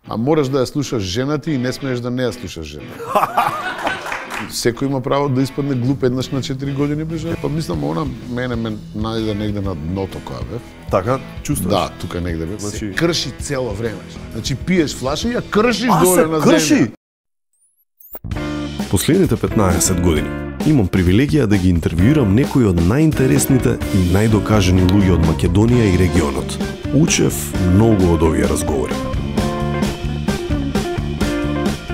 А мораш да ја слушаш жена ти и не смееш да не ја слушаш жена. Секој има право да испадне глуп еднаш на 4 години ближе. Па мислам, она мене најде негде на дното која бев. Така, чувствуваш? Да, тука негде бев. Значи... Се крши цело време. Значи пиеш флаша и ја кршиш доле на земја. Последните 15 години имам привилегија да ги интервјуирам некои од најинтересните и најдокажани луѓе од Македонија и регионот. Учев многу од овие разговори.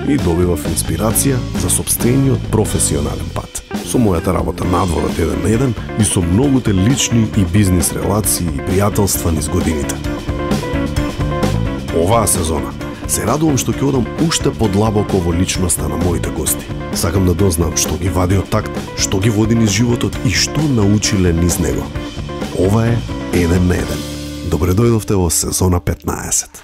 И добивав инспирација за сопствениот професионален пат. Со мојата работа надвор од 1 на 1 и со многуте лични и бизнис релации и пријателства низ годините. Оваа сезона се радувам што ќе одам уште подлабоко во личноста на моите гости. Сакам да дознам што ги вади од такт, што ги води низ животот и што научиле низ него. Ова е 1 на 1. Добре дојдовте во сезона 15.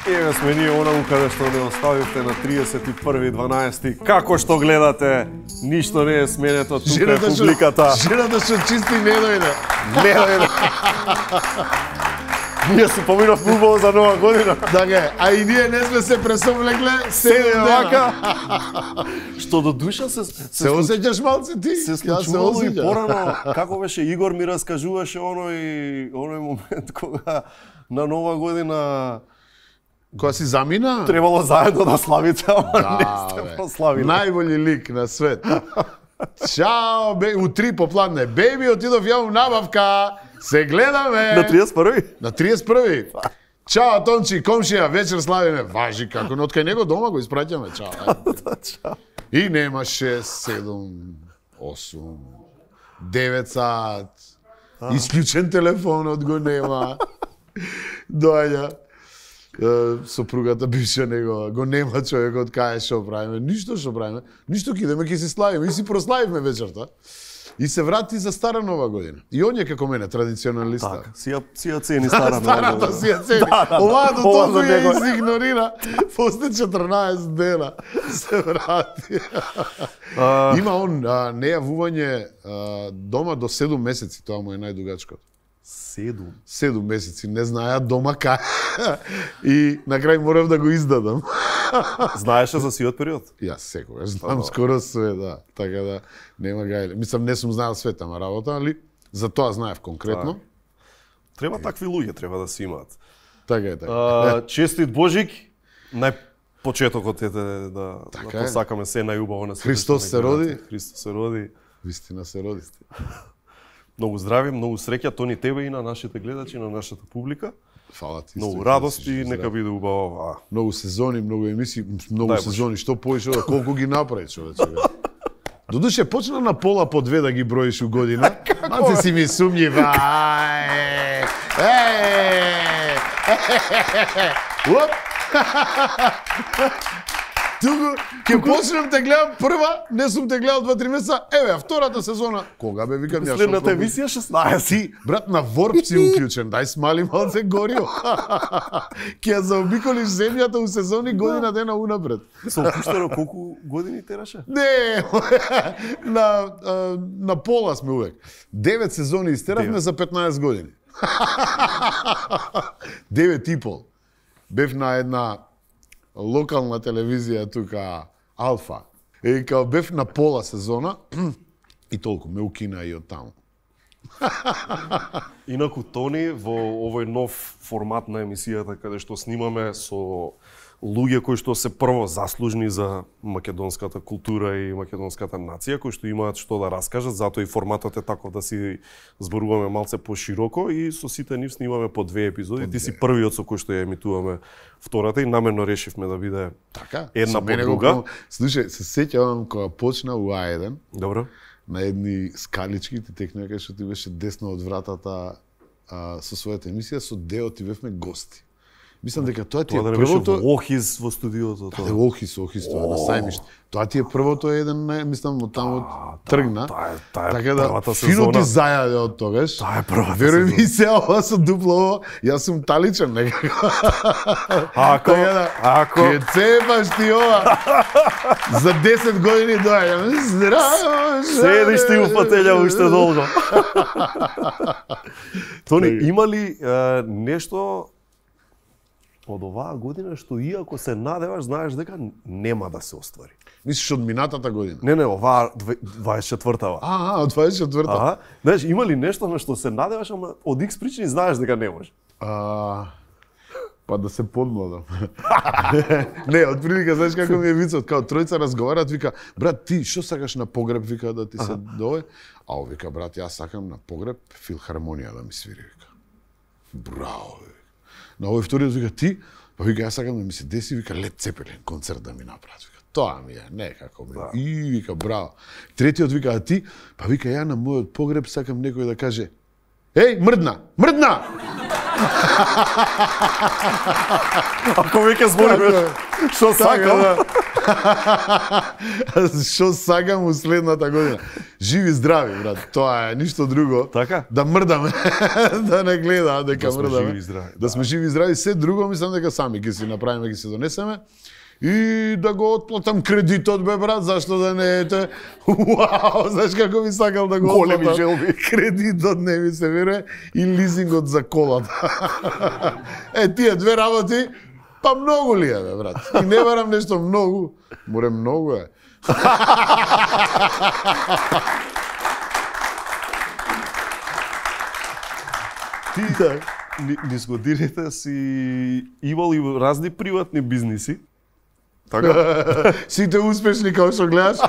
Еве сме ние онаму каде што не оставивте на 31.12. Како што гледате, ништо не е сменето, тука е публиката. Жената што чисти не дојде. Не дојде. Ние се поминавме убаво за нова година. Така, а и ние не сме се пресовлекле, седе вака. Што до душа се осеќаш малце ти? Се случувало и порано. Како беше Игор ми раскажуваше оној момент кога на нова година кога си замина? Требало заедно да славите, ама не сте прославили. Најбољи лик на свет. Чао, у 3 попладне. Беби, отидов ја у набавка. Се гледаме. На 31-ви? На 31-ви. Чао, Тончи, комшија, вечер славиме. Важи како, но откај него дома го испраќаме. Чао. И нема 6, 7, 8, 9 сат. Исклучен телефонот го нема. Доаѓа. Сопругата бивша негова, го нема човекот, кај што правиме, ништо што правиме, ништо ќе идеме, ќе си славиме и си прославивме вечерта. И се врати за стара нова година. И он е како мене, традиционалиста. Така, си ја цени стара нова година. Старата си ја цени. Оваа до толку ја изигнорира. После 14 дена се врати. Има он нејавување дома до 7 месеци, тоа му е најдугачкото. 7 месеци, не знаеа дома кај. И на крај морав да го издадам. Знаеше за сиот период? Јас секогаш знам скоро све, да. Така да нема гајле. Мислам, не сум знаел света на работа, али за тоа знаев конкретно. Треба такви луѓе, треба да се имаат. Така е, така. Честит Божик, најпочетокот е да посакаме се најубаво на светот. Христос се роди. Христос се роди. Вистина се роди. Многу здрави, многу среќа, Тони тебе и на нашите гледачи, на нашата публика. Фала ти. Многу радости, нека биде убаво. Многу сезони, многу емисии, многу сезони, што поише, колку ги направи човече. Додуше почна на пола по 2 да ги броиш у година. Малце си ми сумњив. Уп! Туку, ќе почнем те гледам прва, не сум те гледал 2-3 месеца, еве, втората сезона. Кога бе, викам ја? Следната емисија 16. Ти, брат, на ворп си уклучен, дај смали малце горио. Ќе ја заобиколиш земјата у сезони година дена унапред. Со опуштено колку години тераше? Не, на пола сме увек. 9 сезони истеравме за 15 години. 9 и пол. Бев на една локална телевизија тука, Алфа. И као бев на пола сезона и толку ме укина и од таму. Инаку Тони во овој нов формат на емисијата каде што снимаме со луѓе кои што се прво заслужни за македонската култура и македонската нација, кои што имаат што да раскажат, затоа и форматот е таков да си зборуваме малце пошироко и со сите нив снимаме по 2 епизоди. Ти си првиот со кој што ја емитуваме втората и намерно решивме да биде така, една по друга. Слушај, се сеќавам кога почна у А1. Добро. На едни скалички ти текна кај што ти беше десно од вратата со својата емисија, со Део ти бевме гости. Мислам дека тоа ти е првото... Тоа да Охис во студиото. Да, Охис, тоа на сајмиште. Тоа ти е првото еден, мислам, од таму тргна. Така да, фино ти зајаде од тогаш. Таа е првата сезона. Веруј ми се, ова со дупло ово, јас сум таличен некако. Ако, Ке цепаш ти ова. За 10 години доаѓам. Здраво, седиш ти у фотелја уште долго. Тони, има ли нешто од оваа година што иако се надеваш, знаеш дека нема да се оствари. Мислиш од минатата година? Не, оваа 24-та. Од 24-та. Знаеш, има ли нешто на што се надеваш, ама од X причини знаеш дека не може? Па да се подмладам. Не, од прилика, знаеш како ми е вицот, као тројца разговарат, вика, брат, ти што сакаш на погреб, вика, да ти се дове? А он вика, брат, јас сакам на погреб филхармонија да ми свири, вика. Браво, вика. На овој вториот вика, ти? Па вика, јас сакам да ми се деси, вика, Лед Цепелин концерт да ми направат, вика. Тоа ми е, некако ми. И вика, браво. Третиот вика, а ти? Па вика, ја на мојот погреб сакам некој да каже, еј, мрдна, мрдна! Ако веќе зборуваш, што сакам? Што сакам у следната година? Живи здрави, брат. Тоа е ништо друго. Така? Да мрдаме, да не гледа дека мрдаме. Живи здрави. Да сме живи здрави, се друго мислам дека сами ќе си направиме, ќе си донесеме. И да го отплатам кредитот, бе, брат, зашто да не ете. Уау, знаеш како би сакал да го отплатам. Големи желби. Кредитот не ми се верува и лизингот за колата. Тие две работи, па многу ли е, бе, брат? И не барам нешто многу, море многу е. Ти, низ годините си имал и разни приватни бизниси. Така? Сите успешни како што гледаш?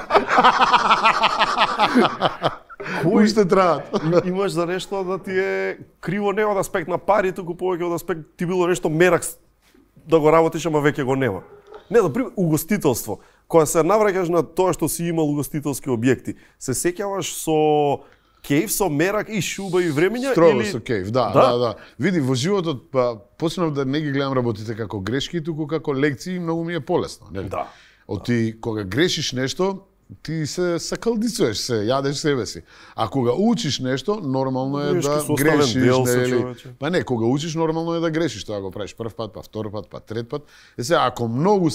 Кои ще траат? Имаш за нешто да ти е криво не од аспект на пари, туку повеќе од аспект ти било нешто мерак да го работиш, ама веќе го нема. Не, да пример, угостителство. Кога се навраќаш на тоа што си имал угостителски објекти, се сеќаваш со кејф, со мерак и шуба и времења? Строго или... со кејф, да. Види, во животот, почнав да не ги гледам работите како грешки, туку како лекции, многу ми е полесно. Нели? Да. Ти, кога грешиш нешто, ти се сакалдицуеш, се јадеш себе си. А кога учиш нешто, нормално е да грешиш. Па не, кога учиш, нормално е да грешиш. Тоа го правиш прв пат, па втор пат, па трет пат. Сега, ако многу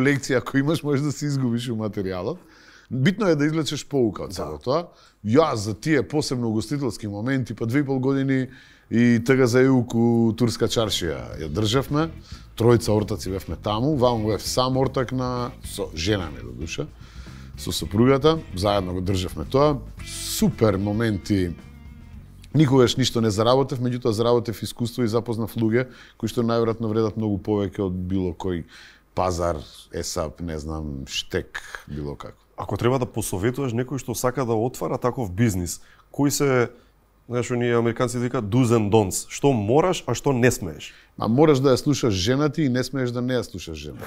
лекции, ако имаш, можеш да се изгубиш у материјалот. Битно е да извлечеш поука од цело тоа. Јас за тие посебно угостителски моменти, па 2,5 години и тага за јук у Турска чаршија ја државме. Тројца ортаци бевме таму, ваму бев сам ортак со жена ми до душа, со сопругата, заедно го државме тоа. Супер моменти. Никогаш ништо не заработев, меѓутоа заработев искуство и запознав луѓе кои што најверојатно вредат многу повеќе од било кој пазар, ЕСАП, не знам, штек, било како. Ако треба да посоветуваш некој што сака да отвара таков бизнис, кои се, знаеш, оние американци викаат do's and don'ts, што мораш, а што не смееш? Мораш да ја слушаш жена ти и не смееш да не ја слушаш жена.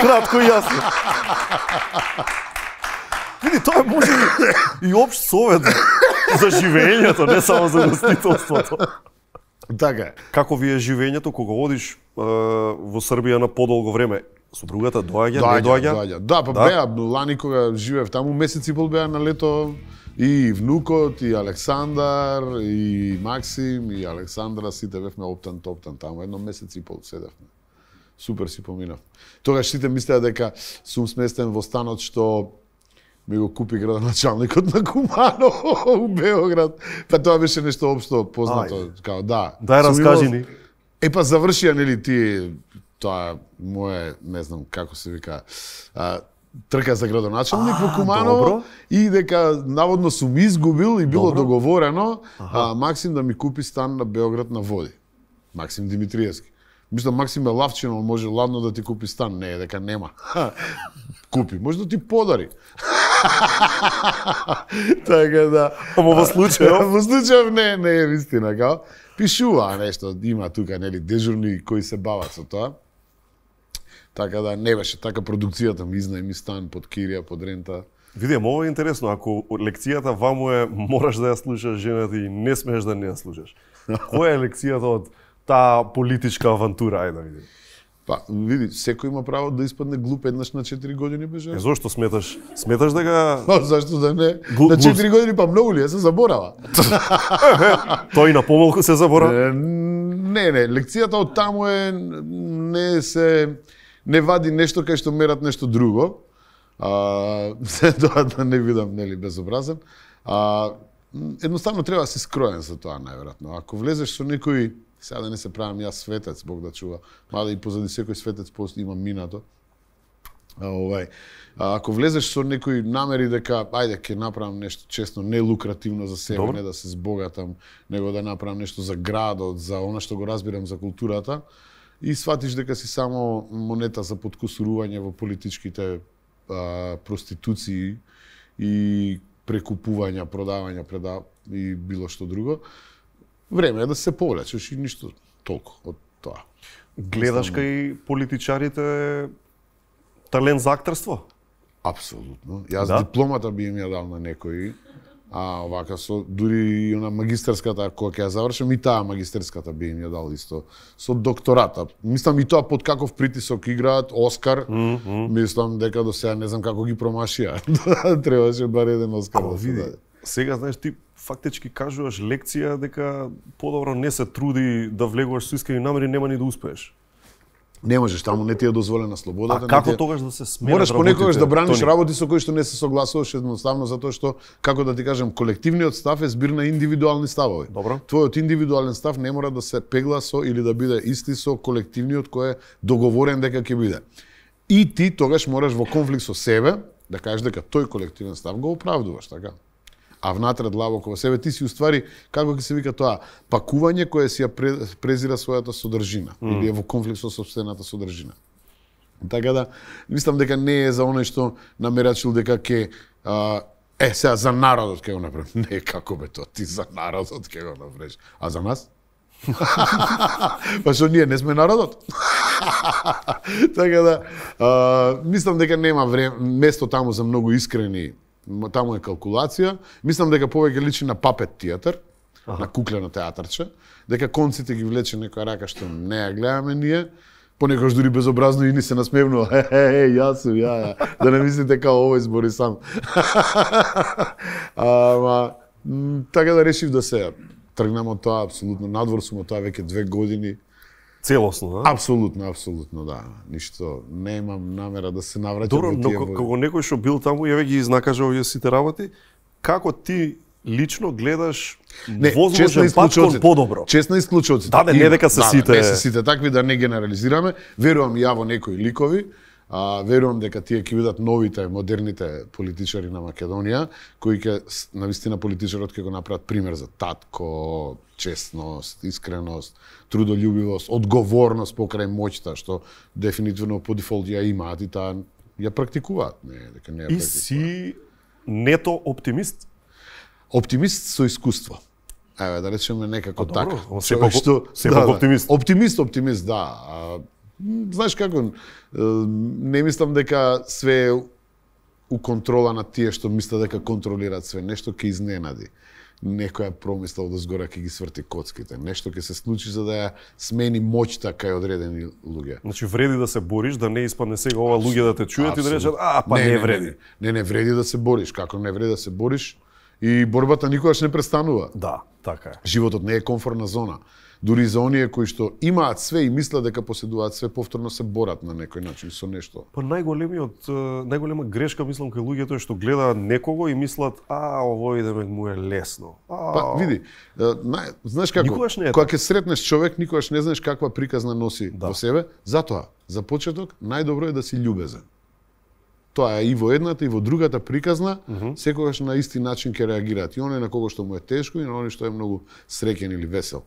Кратко и јасно. Види, тоа може и општ совет за живењето, не само за гостителството. Така е. Како ви е живењето кога одиш во Србија на подолго време? Супругата доаѓа, не доаѓа? Да, па беа, лани кога живеев таму, месец и пол беа на лето и внукот, и Александар, и Максим, и Александра, сите бевме оптан таму, едно месец и пол седевме. Супер си поминав. Тогаш сите мислеа дека сум сместен во станот што ми го купи градоначалникот на Куманово у Београд. Па тоа беше нешто општо познато, као да. Дај раскажи ни. Па завршија, нели, ти тоа мое, не знам како се вика, трка за градоначалник во Куманово и дека наводно сум изгубил и било договорено Максим да ми купи стан на Београд на води. Максим Димитриевски. Мислам, Максим е лавчин, он може ладно да ти купи стан. Не, дека нема. Купи, може да ти подари. Така да. Ама во случајов? Во случајов не е вистина, као. Пишува нешто, има тука, нели, дежурни кои се бават со тоа. Така да не беше така продукцијата, ми изнајми стан под кирија, под рента. Види, ова е интересно, ако лекцијата ваму е мораш да ја слушаш жената и не смееш да не ја слушаш. Која е лекцијата од таа политичка авантура, ајде да видим? Па, види, секој има право да испадне глуп еднаш на 4 години, беже. Зошто сметаш? Сметаш дека... Зашто да не? На 4 години па многу ли ја се заборава? Тој на помалку се заборава? Не, лекцијата од таму е не вади нешто кај што мерат нешто друго. Тоа да не видам, нели, безобразен. едноставно треба да си скроен за тоа, најверојатно. Ако влезеш со некој, сега да не се правам јас светец, Бог да чува, мада и позади секој светец има минато. Ако влезеш со некој намери дека ајде ќе направам нешто честно, не лукративно за себе, не да се збогатам, него да направам нешто за градот, за она што го разбирам за културата, и сватиш дека си само монета за подкусурување во политичките проституции и прекупувања, продавања, и било што друго, време е да се повлечеш и ништо толку од тоа. Гледаш кај политичарите талент за актерство? Апсолутно. Јас дипломата би им ја дал на некој, а овака дури и она магистерската, кога ќе ја завршам, и таа магистерската би им ја дал исто. Со доктората. Мислам и тоа под каков притисок играат, Оскар, мислам дека до сега не знам како ги промашија. Требаше бар еден Оскар да се даде. Сега, знаеш, ти фактички кажуваш лекција дека подобро не се труди да влегуваш со искрени намери, нема ни да успееш. Не можеш, таму не ти е дозволена слободата. А како тогаш да се сменат работите? Мораш понекогаш да браниш Тони, работи со кои што не се согласуваш, едноставно затоа што, како да ти кажем, колективниот став е збир на индивидуални ставови. Добро. Твојот индивидуален став не мора да се пегла со или да биде исти со колективниот кој е договорен дека ќе биде. И ти тогаш мораш во конфликт со себе да кажеш дека тој колективен став го оправдуваш, така? А внатре длабоко во себе ти си уствари, како ќе се вика тоа, пакување кое си ја презира својата содржина или е во конфликт со сопствената содржина. Така да, мислам дека не е за оној што намерачил дека ќе сега за народот ќе го направи. Не, како бе тоа, ти за народот ќе го направиш. А за нас? Па што ние не сме народот? Така да, мислам дека нема место таму за многу искрени. Таму е калкулација. Мислам дека повеќе личи на папет театар, на куклено театарче, дека конците ги влече некоја рака што не ја гледаме ние, понекогаш дури безобразно и ни се насмевнува. Јас сум, ја. Да не мислите као овој збори сам. Така да решив да се тргнам од тоа, апсолутно. Надвор сум од тоа веќе 2 години. Целосно, да? Апсолутно, да. Ништо, немам намера да се навраќам во тие. Добро, но кога некој што бил таму, ја ги изнакажа овие сите работи, како ти лично гледаш возможен пат кон подобро? Честно исклучоците. Да, не дека се сите... Не се сите такви, да не генерализираме. Верувам ја во некои ликови, верувам дека тие ќе бидат новите, модерните политичари на Македонија, кои ќе, навистина политичарот ќе го направат пример за татко, честност, искреност, трудолюбивост, одговорност покрај моќта, што дефинитивно по дефолт ја имаат и таа ја практикуваат. Не, дека не ја практикуваат. И си нето оптимист? Оптимист со искуство. Еве, да речеме некако така. Сепак оптимист. Оптимист, да. Знаеш како, не мислам дека све е у контрола на тие што мислат дека контролираат све. Нешто ќе изненади. Некоја промисла од озгора ќе ги сврти коцките. Нешто ќе се случи за да ја смени моќта кај одредени луѓе. Значи вреди да се бориш, да не испадне сега ова луѓе да те чујат и да речат, не вреди. Не вреди да се бориш. Како не вреди да се бориш? И борбата никогаш не престанува. Да, така е. Животот не е комфортна зона. Дури за оние кои што имаат све и мислат дека поседуваат све, повторно се борат на некој начин со нешто. Па најголема грешка мислам кај луѓето е што гледаат некого и мислат, овој да му е лесно. Па види, знаеш како, кога ќе сретнеш човек, никогаш не знаеш каква приказна носи во себе, затоа за почеток најдобро е да си љубезен. Тоа е и во едната и во другата приказна, секогаш на исти начин ќе реагираат. И оној на кого што му е тешко и на оној што е многу среќен или весел.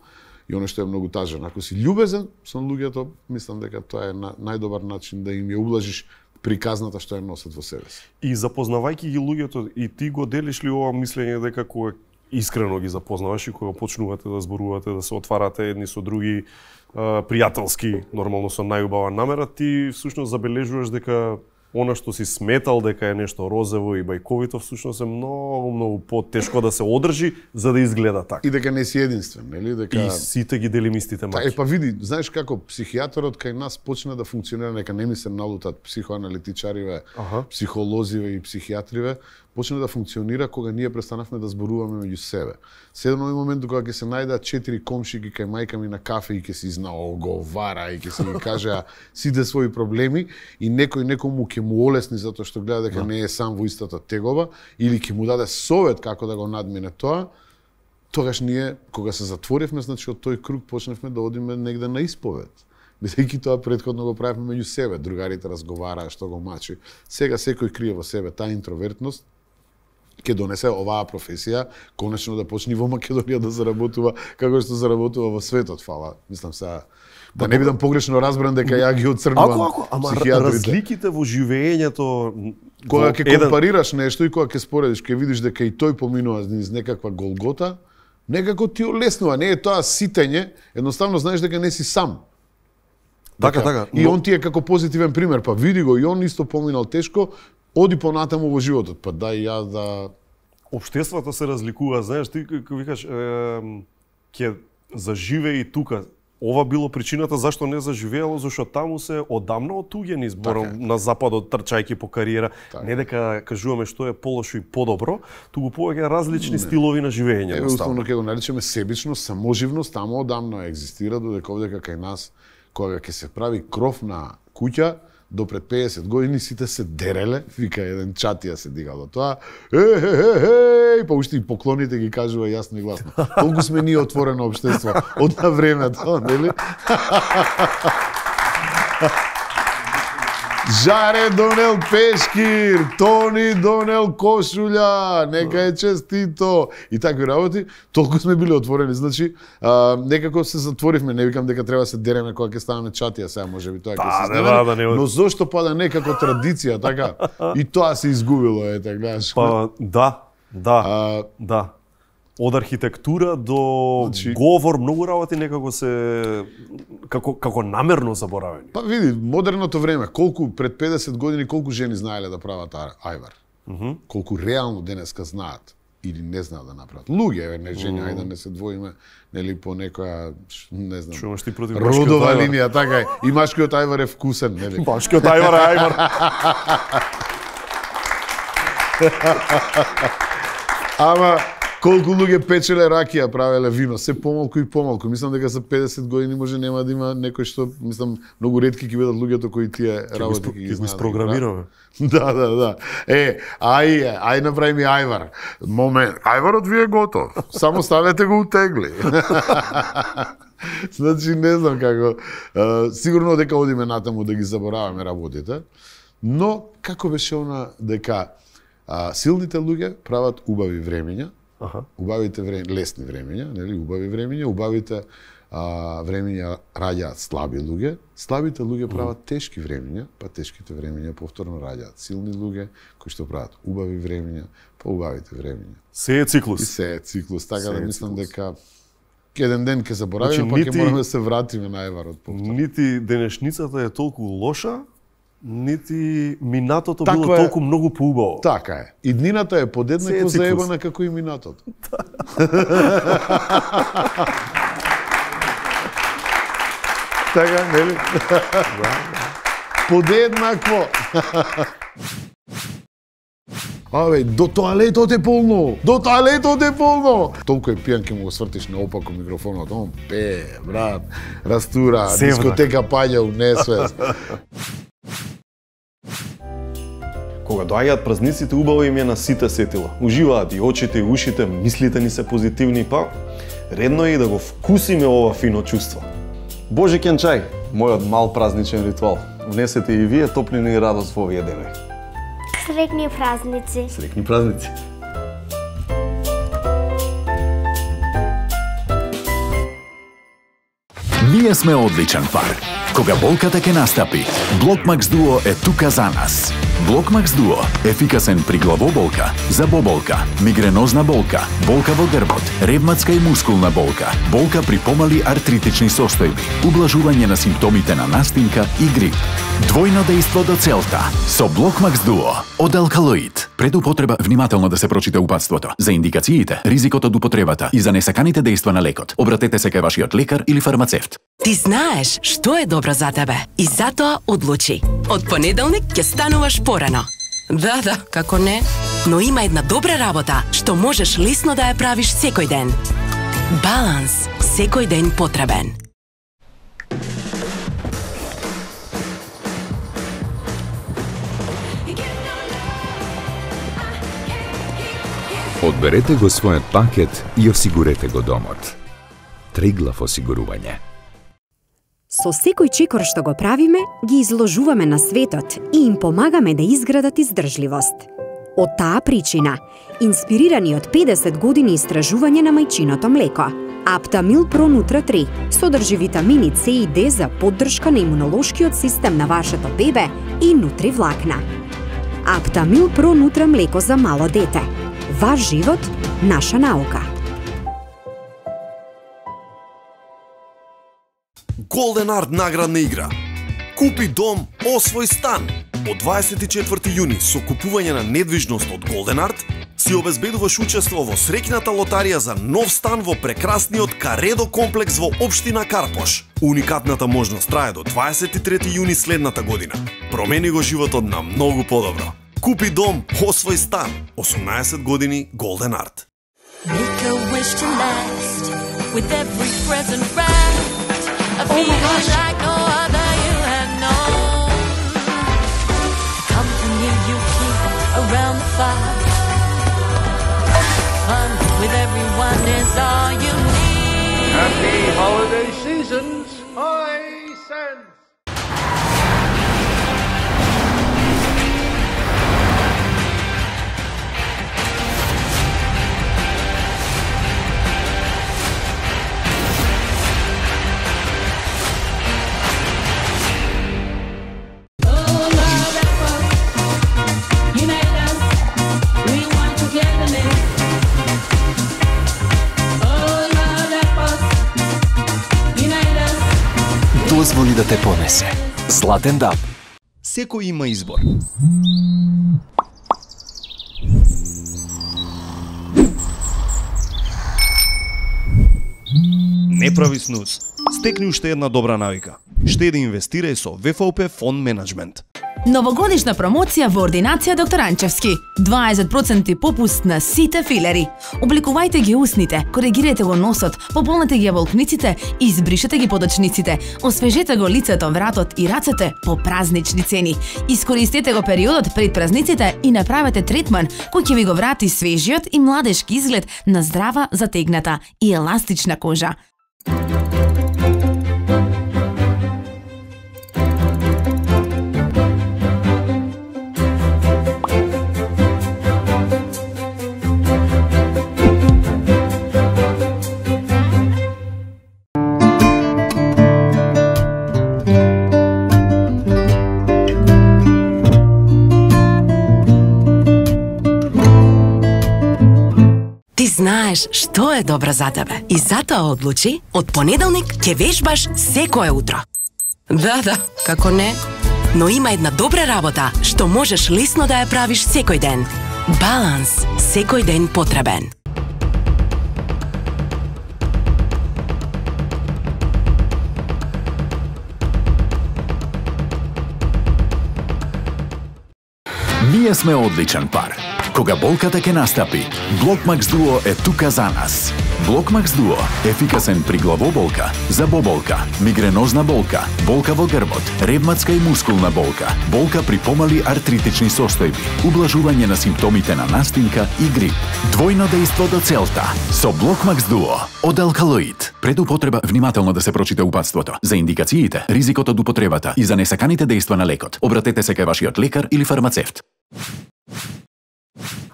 И оној што е многу тажен. Ако си љубезен со луѓето, мислам дека тоа е најдобар начин да им ја ублажиш приказната што ја носат во себе си. И запознавајќи ги луѓето, и ти го делиш ли ова мислење дека кога искрено ги запознаваш и кога почнувате да зборувате, да се отварате едни со други, пријателски, нормално со најубава намера, ти всушност забележуваш дека она што си сметал дека е нешто розево и бајковито, всушност е многу потешко да се одржи за да изгледа така. И дека не си единствен, нели? Дека и сите ги делим истите маки. Па види, знаеш како психијаторот кај нас почна да функционира, нека не ми се налутат психоаналитичариве, психолозиве и психијатриве, почна да функционира кога ние престанавме да зборуваме меѓу себе. Седам на момент кога ќе се најдат 4 комшики кај мајка ми на кафе и ќе се изнаоговара и ќе се ги кажа сите своји проблеми и некој некому ќе му олесни затоа што гледа дека не е сам во истата тегова или ќе му даде совет како да го надмине тоа. Тогаш ние, кога се затворивме, значи од тој круг почнавме да одиме негде на исповед. Бидејќи тоа претходно го правевме меѓу себе, другарите разговараа што го мачи. Сега секој крие во себе таа интровертност, ќе донесе оваа професија конечно да почне во Македонија да заработува како што заработува во светот, фала. Мислам сега да не бидам погрешно разбран дека ја ги оцрнувам. Ама разликите во живеењето кога ќе компарираш нешто и кога ќе споредиш, ќе видиш дека и тој поминува низ некаква голгота, некако ти олеснува, не е тоа ситење, едноставно знаеш дека не си сам. Така. И он ти е како позитивен пример, па види го и он исто поминал тешко, оди понатаму во животот, па дај ја да... Обштеството се разликува, знаеш, ти како викаш, ќе заживее и тука. Ова било причината зашто не заживеело, зашто таму се одамна отуѓени збором на западот трчајќи по кариера. Не дека кажуваме што е полошо и подобро, туку повеќе различни стилови на живење. Уствено ќе го наречеме себичност, саможивност, таму одамна екзистира, додека овде кај нас, кога ќе се прави кров на куќа, до пред 50 години сите се дереле, вика еден чатија се дигало тоа, па уште и поклоните ги кажува јасно и гласно. Колку сме ние отворено општество од на времето, нели? Жаре донел пешкир, Тони донел кошуља, нека е честито и такви работи. Толку сме били отворени, значи некако се затворивме, не викам дека треба се дереме кога ќе ставаме чатија, сега можеби тоа ќе се знаме. Но зошто пада некако традиција, така? И тоа се изгубило, ете, гледаш. Па да. Од архитектура до говор, многу работи некако се како намерно заборавени. Па види, модерното време, колку пред 50 години колку жени знаеле да прават ајвар. Колку реално денеска знаат или не знаат да направат. Луѓе, не жени, ајде да не се двоиме, нели по некоја, не знам, шумаш ти против родова линија, така е. И машкиот ајвар е вкусен, нели? Машкиот ајвар е ајвар. Ама колку луѓе печеле ракија, правеле вино, се помалку и помалку. Мислам дека за 50 години може нема да има некој што, мислам, многу ретки ќе бидат луѓето кои тие работи ги знаат. Ќе ги спрограмираме. Да. Ај направи ми ајвар. Момент, ајварот ви е готов. Само ставете го утегли. Значи не знам како. Сигурно дека одиме натаму да ги забораваме работите, но како беше она дека силните луѓе прават убави времења, убавите лесни времења, нели, убави времења, убавите времења раѓаат слаби луѓе, слабите луѓе прават тешки времења, па тешките времења повторно раѓаат силни луѓе кои што прават убави времења, па убавите времења. Се е циклус. И се е циклус, така да мислам дека еден ден ќе заборавиме, па ќе мораме да се вратиме на ајварот повторно. Нити денешницата е толку лоша, нити минатото било толку многу поубаво. Така е. И днината е подеднакво заебана како и минатото. Така, нели? Подеднакво. Абе, до тоалетот е полно! До тоалетот е полно! Толку е пијан ке му го свртиш наопако микрофонот, он пее, брат, растура, дискотека паѓа у несвест. Кога доаѓаат празниците, убаво им е на сите сетила. Уживаат и очите и ушите, мислите ни се позитивни, па редно е и да го вкусиме ова фино чувство. Божиќен чај, мојот мал празничен ритуал. Внесете и вие топлина и радост во овие денови. Среќни празници. Среќни празници. Ние сме одличен пар. Кога болката ќе настапи, Блокмакс Дуо е тука за нас. Блокмакс Дуо – ефикасен при главоболка, забоболка, мигренозна болка, болка во грбот, ревматска и мускулна болка, болка при помали артритични состојби, ублажување на симптомите на настинка и грип. Двојно дејство до целта со Блокмакс Дуо од Алкалоид. Пред употреба внимателно да се прочита упатството. За индикациите, ризикот од употребата и за несаканите дејства на лекот, обратете се кај вашиот лекар или фармацевт. Ти знаеш што е добро за тебе и затоа одлучи. Од понеделник ќе стануваш порано. Да, како не. но има една добра работа што можеш лесно да ја правиш секој ден. Баланс, секој ден потребен. Одберете го својот пакет и осигурете го домот. Триглав осигурување. Со секој чекор што го правиме, ги изложуваме на светот и им помагаме да изградат издржливост. Од таа причина, инспирирани од 50 години истражување на мајчиното млеко, Аптамил Про Нутра 3 содржи витамини С и Д за поддршка на имунолошкиот систем на вашето бебе и нутри влакна. Аптамил Про Нутра млеко за мало дете. Ваш живот, наша наука. Golden Art наградна игра. Купи дом, освој стан. Од 24 јуни со купување на недвижност од Golden Art си обезбедуваш учество во среќната лотарија за нов стан во прекрасниот Каредо комплекс во општина Карпош. Уникатната можност трае до 23 јуни следната година. Промени го животот на многу подобро. Купи дом, освој стан. 18 години Golden Art. Make a wish to last with every present wrapped. A feeling like no other you have known. Company you keep around the fire. Fun with everyone is all you need. Happy holiday seasons, Hisense. Дозволи да те понесе. Златен даб. Секој има избор. Не прави снуз. Стекни уште една добра навика. Штеди инвестирај со ВФОП Фонд Менеджмент. Новогодишна промоција во ординација доктор Анчевски. 20% попуст на сите филери. Обликувајте ги усните, коригирайте го носот, пополнете ги волкниците и избришете ги подочниците. Освежете го лицето, вратот и рацете по празнични цени. Искористете го периодот пред празниците и направете третман кој ќе ви го врати свежиот и младешки изглед на здрава, затегната и еластична кожа. Знаеш што е добро за тебе и затоа одлучи од понеделник ќе вежбаш секое утро. Да, како не? Но има една добра работа што можеш лесно да ја правиш секој ден. Баланс, секој ден потребен. Ние сме одличен пар. Кога болката ќе настапи, Блокмакс Дуо е тука за нас. Блокмакс Дуо – ефикасен при главоболка, забоболка, мигренозна болка, болка во грбот, ревматска и мускулна болка, болка при помали артритични состојби, ублажување на симптомите на настинка и грип. Двојно дејство до целта со Блокмакс Дуо од алкалоид. Пред употреба внимателно да се прочита упатството. За индикациите, ризикот од употребата и за несаканите дејства на лекот, обратете се кај вашиот лекар или фармацевт.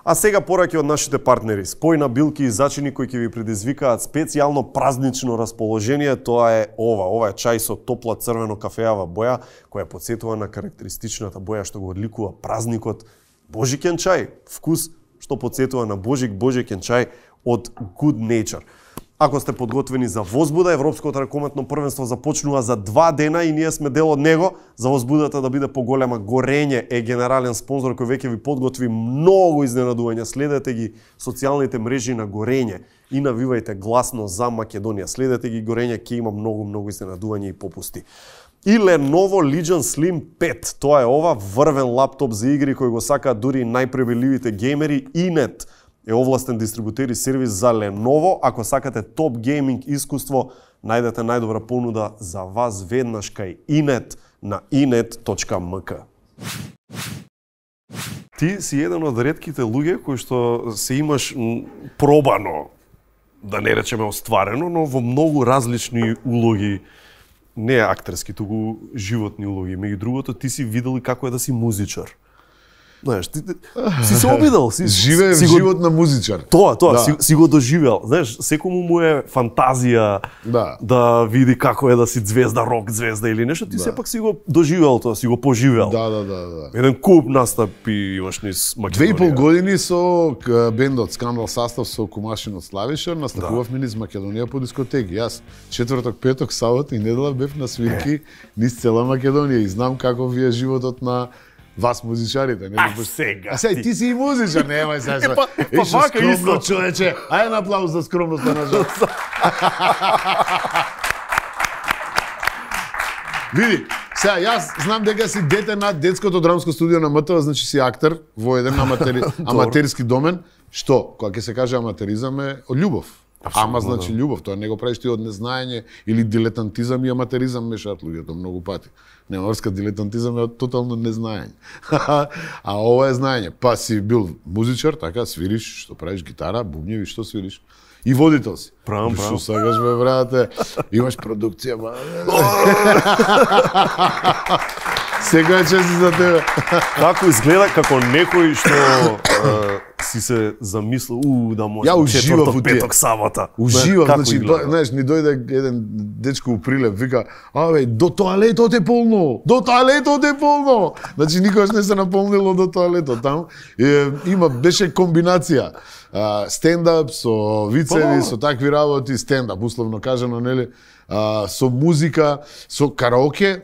А сега пораки од нашите партнери. Спојна билки и зачини кои ќе ви предизвикаат специјално празнично расположение, тоа е ова е чај со топла црвено кафеава боја, која потсетува на карактеристичната боја што го одликува празникот. Божикен чај, вкус што потсетува на божикен чај од Good Nature. Ако сте подготвени за возбуда, Европското ракометно првенство започнува за 2 дена и ние сме дел од него. За возбудата да биде поголема, Горење е генерален спонзор кој веќе ви подготви многу изненадувања. Следете ги социјалните мрежи на Горење и навивајте гласно за Македонија. Следете ги горење, ќе има многу изненадување и попусти. И Lenovo Legion Slim 5. Тоа е ова врвен лаптоп за игри кој го сакаат дури најпребеливите геймери. Inet е овластен дистрибутер и сервис за Lenovo. Ако сакате топ гейминг искуство, најдете најдобра понуда за вас веднаш кај Inet на inet.mk. Ти си еден од ретките луѓе кои што се имаш пробано, да не речеме остварено, но во многу различни улоги, не актерски, туку животни улоги. Меѓу другото, ти си видел и како е да си музичар. Знаеш, ти си се обидел, живееш живот на музичар. Тоа, си го доживел. Знаеш, секому му е фантазија да види како е да си звезда, рок звезда или нешто, ти сепак си го доживел тоа, си го поживел. Да. Еден куп настапи имаш низ Македонија. 2,5 години со бендот Скандал састав со Кумашин од Славишар, настапувавме низ Македонија по дискотеки. Јас четврток, петок, сабота и недела бев на свирки низ цела Македонија и знам како ви е животот на вас музичарите, не? Сега. А сега ти си и музичар, немај сега. Вака исто, човече. Ајде аплауз за скромноста на жал. Види, сега јас знам дека си дете на детското драмско студио на МТВ, значи си актер во еден аматерски домен. Што, кога ќе се каже аматеризам е од љубов. Ама значи љубов, тоа не го правиш ти од незнаење или дилетантизам и аматеризам мешаат луѓето многу пати. Немарска дилетантизам е од тотално незнаење. А ова е знаење. Па си бил музичар, така, свириш, што правиш гитара, бубњеви, што свириш. И водител си. Правам. Што сакаш бе, брате? Имаш продукција, ба. Сега чест за тебе. Како изгледа како некој што си се замислил, да може четврток, петок, сабота. Уживав, значи, знаеш, ни дојде еден дечко у Прилеп, вика, абе, до тоалетот е полно, до тоалетот е полно. Значи, никогаш не се наполнило до тоалетот таму. Беше комбинација. Стендап со вицеви, со такви работи, стендап, условно кажано, нели, со музика, со караоке,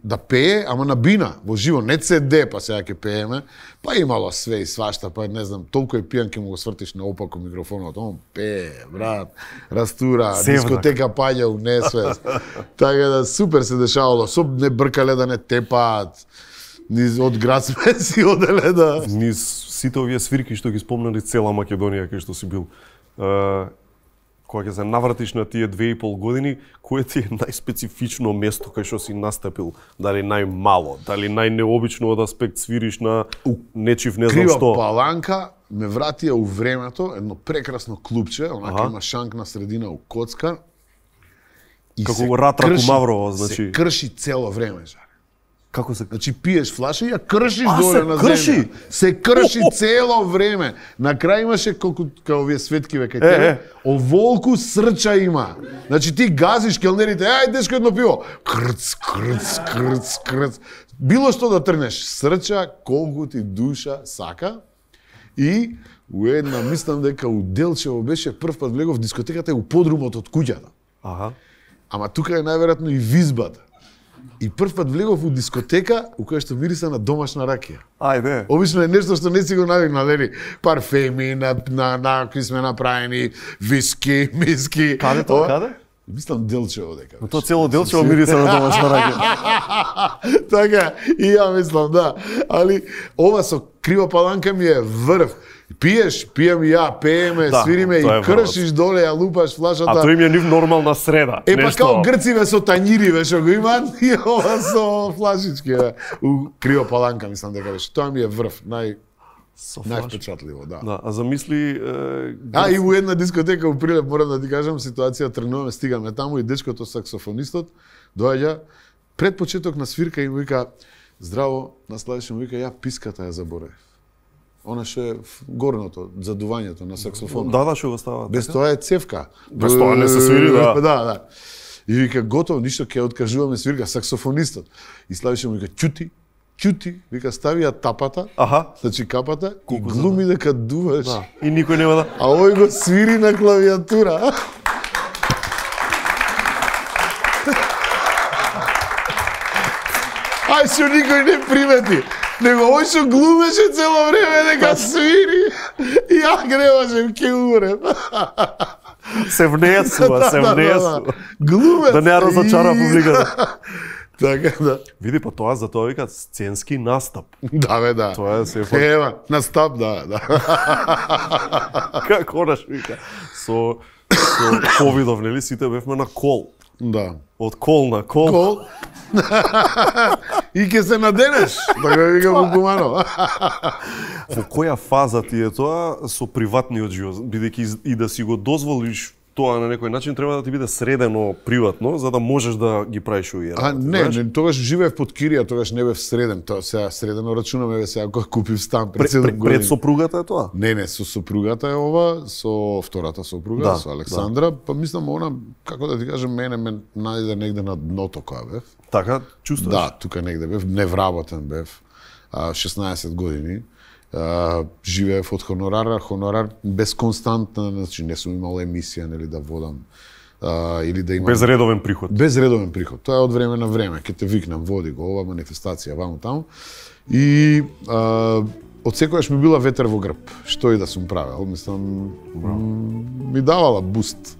да пее, ама на бина, во живо, не CD, па сега ќе пееме, па имало све и свашта, па не знам, толку е пијан ке му го свртиш на опако микрофонот, он пее, брат, растура, дискотека паѓа у несвест. Така да супер се дешавало, со не бркале да не тепаат, низ од град сме си оделе да... Низ сите овие свирки што ги спомнали цела Македонија кај што си бил, кога ќе се навратиш на тие 2,5 години, кое ти е најспецифично место кај што си настапил? Дали најмало, дали најнеобично од аспект свириш на нечив не знам што? Крива Паланка ме вратија у времето, едно прекрасно клубче, онака има шанк на средина у коцка. Како го Ратра Кумаврово, значи. Се крши цело време, жаре. Како се... Значи пиеш флаша и ја кршиш доле на земја. Се крши цело време. На крај имаше колку као овие светкиве кај тебе. Оволку срча има. Значи ти газиш келнерите, ај дечко едно пиво. Крц, крц, крц, крц. Било што да трнеш, срча колку ти душа сака. И у една, мислам дека у Делчево беше прв пат влегов дискотеката у подрумот од куќата. Ама тука е најверојатно и визбата. И прв пат влегов у дискотека у која што мириса на домашна ракија. Ајде. Обично е нешто што не си го навикнал, нели? Парфеми на кои сме направени, виски, миски. Каде тоа? Каде? Мислам Делчево дека. Но тоа цело Делчево мириса на домашна ракија. Така, и ја мислам, да. Али ова со Крива Паланка ми е врв. Пиеш, пием и ја, пееме, свириме и кршиш доле, ја лупаш флашата. А тоа им е нив нормална среда. Е, па као грциве со тањириве што го имаат, и ова со флашички. У Крива Паланка, мислам дека беше. Тоа ми е врв, највпечатливо, да. А замисли... и у една дискотека у Прилеп, морам да ти кажам, ситуација, тргнуваме, стигаме таму и дечкото саксофонистот доаѓа пред почеток на свирка и му вика, здраво, на Славише му вика, ја писката ја заборев. Она што е горното, задувањето на саксофонот. Да, што го става. Без тоа е цевка. Без тоа не се свири, да. Да. И вика, готово, ништо, ќе откажуваме свирка, саксофонистот. И Славише му вика, ќути, вика, стави ја тапата, значи капата, и глуми дека дуваш. И никој нема да... А овој го свири на клавиатура. Ај што никој не примети. Него овој што глумеше цело време дека свири. И ја греважем, ке умрем. Се внесува. Глумец. Да не ја разочара публиката. Така да. Види, па тоа за тоа викаат сценски настап. Да, бе, да. Тоа е се Ева, настап, да. Како наш вика. Со ковидов, нели, сите бевме на кол. Да. Од кол на кол. Кол. И ке се наденеш, така вика Букуманов. Во која фаза ти е тоа со приватниот живот, бидејќи и да си го дозволиш тоа на некој начин треба да ти биде средено приватно за да можеш да ги правиш овие работи. Не, тогаш живеев под кирија, тогаш не бев среден, тоа сега средено рачунаме ве сега кога купив стан пред 7 години. Пред сопругата е тоа? Не, со сопругата е ова, со втората сопруга, со Александра, па мислам она, како да ти кажам, мене ме најде негде на дното кога бев. Така, чувствуваш? Да, тука негде бев, невработен бев, 16 години. Живеев од хонорар без константна, значи не сум имал емисија нели да водам или да имам без редовен приход. Без редовен приход. Тоа е од време на време, ќе те викнам, води го ова манифестација ваму таму. И од секогаш ми била ветер во грб, што и да сум правел, мислам ми давала буст.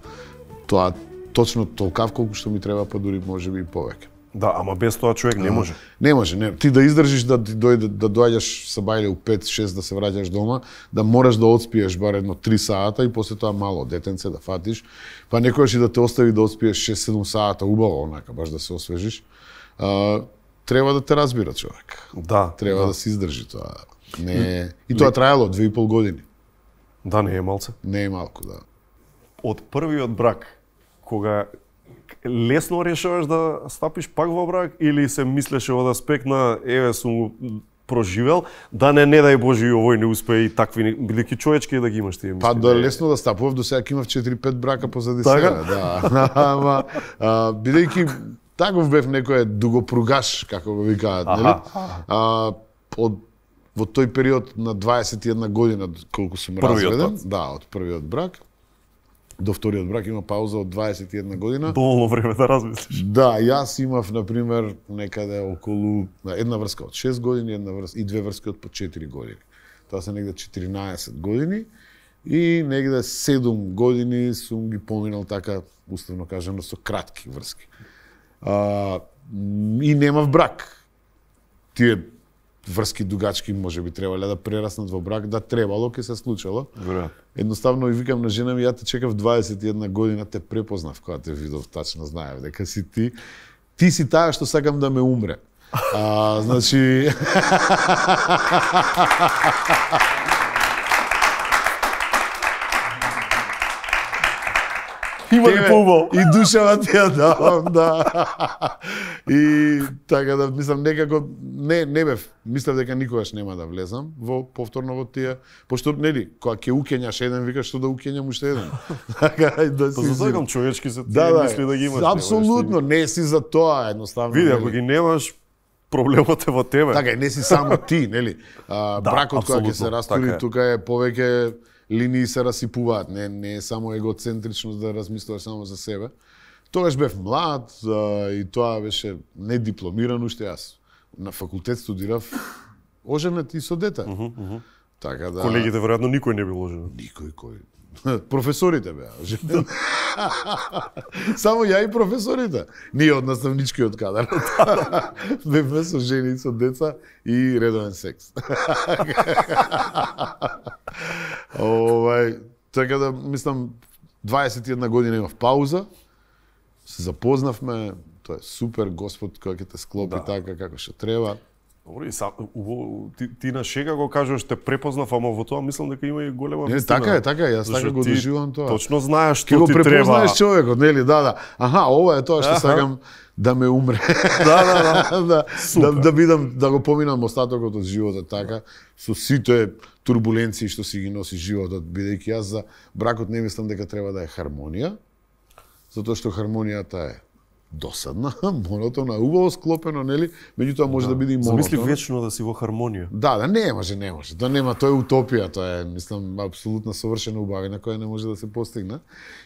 Тоа точно толкав колку што ми треба, па дури можеби и повеќе. Да, ама без тоа човек не може. Не може, не. Ти да издржиш да доаѓаш са бајле у 5-6 да се враќаш дома, да мораш да одспиеш бар едно 3 сата и после тоа мало детенце да фатиш, па некојаш и да те остави да одспиеш 6-7 сата убаво онака баш да се освежиш. Треба да те разбира човек. Да. Треба да се издржи тоа. Не, и тоа траело 2,5 години. Да, не е малце. Не е малку, да. Од првиот брак, кога лесно решаваш да стапиш пак во брак или се мислеше од аспект на еве сум проживел, да не дај Боже и овој не успее и такви, бидејќи човечки да ги имаш тие мисли. Па да лесно да стапував, до сега имав 4-5 брака позади себе, да. Ама бидејќи таков бев некој дугопругаш, како го викаат, нели? Во тој период на 21 година колку сум разведен, да, од првиот брак до вториот брак има пауза од 21 година. Доволно време да размислиш. Да, јас имав, например, некаде околу една врска од 6 години, и две врски од по 4 години. Тоа се негде 14 години и негде 7 години сум ги поминал така, уставно кажано, со кратки врски. И немав брак. Тие врски дугачки може би требале да прераснат во брак, да требало, ке се случило. Веројатно. Едноставно и викам на жена ми, ја те чекав 21 година, те препознав кога те видов, тачно знаев дека си ти. Ти си таа што сакам да ме умре. Значи Има ли побол? И душава ти ја давам, да. И така да мислам некако не бев, мислев дека никогаш нема да влезам повторно во тие, пошто нели кога ќе укењаш еден викаш што да укењам уште еден. Така да си. Па засакам човечки се тие мисли да ги имаш. Апсолутно, не си за тоа едноставно. Види, ако ги немаш, проблемот е во тебе. Така, не си само ти, нели? Бракот кога ќе се растури, тука е повеќе линии се расипуваат, не е само егоцентрично да размислуваш само за себе. Тогаш бев млад и тоа беше недипломиран уште јас. На факултет студирав оженет и со дете. Така да. Колегите веројатно никој не бил оженет. Никој. Професорите беа оженет. Само ја и професорите. Ние од наставничкиот кадар. Бевме со жени и со деца и редовен секс. Така да, мислам, 21 година имав пауза, се запознавме, тоа е супер, Господ кој ќе те склопи така како што треба. Добро, и ти на шега го кажуваш, те препознав, ама во тоа мислам дека има и голема вистина. Така е, јас така го доживам тоа. Точно знаеш што ти треба. Ке го треба. препознаеш човекот, нели, да. Аха, ова е тоа што сакам да ме умре. Да бидам, да го поминам остатокот од животот така, со сите турбуленции што си ги носи животот, бидејќи јас за бракот не мислам дека треба да е хармонија, затоа што хармонијата е досадна, монотона, убаво склопено, нели? Меѓутоа може да биде и монотона. Замисли вечно да си во хармонија. Да, не може. Тоа нема, тоа е утопија, тоа е, мислам, апсолутно совршена убавина која не може да се постигне.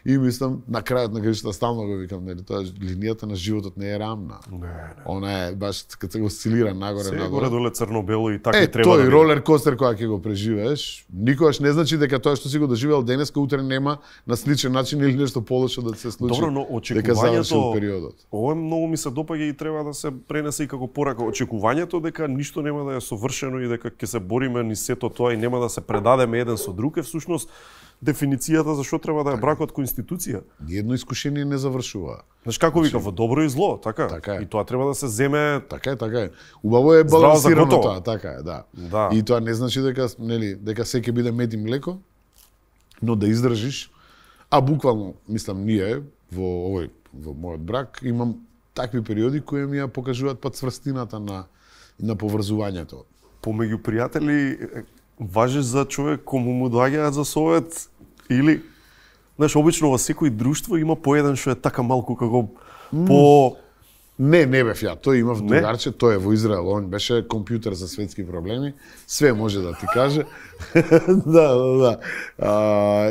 И мислам, на крајот на крајшта стално го викам, нели, тоа линијата на животот не е рамна. Не. Она е баш кога се осцилира нагоре. Горе доле црно-бело и така и треба тој да ролер костер која ќе го преживееш, никогаш не значи дека тоа што си го доживеал денеска утре нема на сличен начин или нешто полошо да се случи. Добро, но очекувањето, ова многу ми се допаѓа и треба да се пренесе и како порака. Очекувањето дека ништо нема да е совршено и дека ќе се бориме ни сето тоа и нема да се предадеме еден со друг е всушност дефиницијата за што треба да е бракот кој институција. Ниедно искушение не завршува. Знаеш како вика, во добро и зло, така? Така е. И тоа треба да се земе. Така е. Убаво е балансирано тоа, така е, да. И тоа не значи дека, нели, дека се ќе биде мед и млеко, но да издржиш, а буквално, мислам, ние во мојот брак имам такви периоди кои ми ја покажуваат пат цврстината на поврзувањето. Помеѓу пријатели важиш за човек кому му доаѓаат за совет или знаеш обично во секој друштво има по еден што е така малку како по Не бев ја, тој имав другарче, тој е во Израел, он беше компјутер за светски проблеми, све може да ти каже. Да.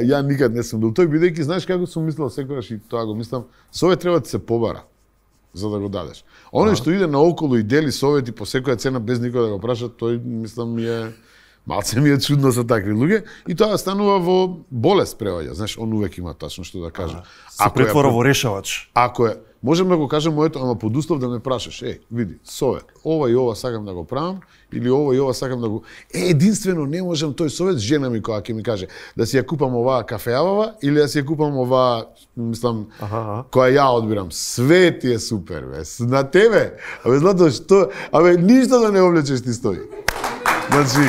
Ја никад не сум бил тој, бидејќи знаеш како сум мислел секогаш и тоа го мислам, совет треба да се побара за да го дадеш. Оној што иде наоколу и дели совети по секоја цена без никој да го праша, тој мислам малце ми е чудно за такви луѓе и тоа станува во болест преваѓа. Знаеш, он увек има тачно што да каже. Се претвора во решавач. Ако е, можам да го кажам моето, ама под услов да ме прашаш, види, совет, ова и ова сакам да го правам, или ова и ова сакам да го... единствено не можам тој совет, жена ми која ќе ми каже, да си ја купам оваа кафеавава, или да си ја купам оваа, мислам, која ја одбирам. Све ти е супер, бе. На тебе, злато, што... ништо да не облечеш ти стои. Значи...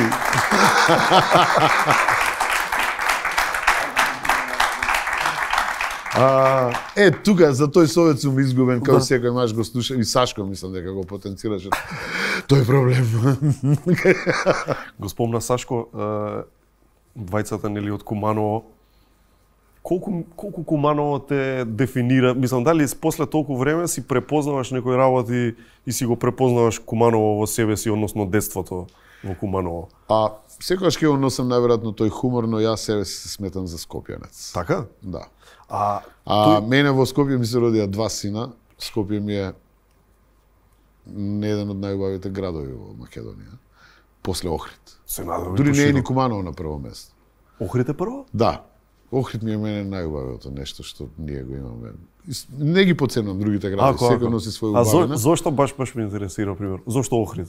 тука за тој совет сум изгубен, као секој маж го слуша, и Сашко мислам дека го потенцираше тој проблем. Го спомна Сашко, двајцата нели од Куманово. Колку Куманово те дефинира? Мислам, дали после толку време си препознаваш некои работи и си го препознаваш Куманово во себе си, односно детството во Куманово? Секогаш ќе го носам најверојатно тој хумор, но јас себе се сметам за скопјанец. Така? Да. Мене во Скопје ми се родија два сина. Скопје ми е еден од најубавите градови во Македонија. После Охрид. Дури не е ни Куманово на прво место. Охрид е прво? Да. Охрид ми е мене најубавото нешто што ние го имаме. Не ги поценувам другите градови, секој носи своја убавина. Зошто баш ме интересира, пример? Зошто Охрид?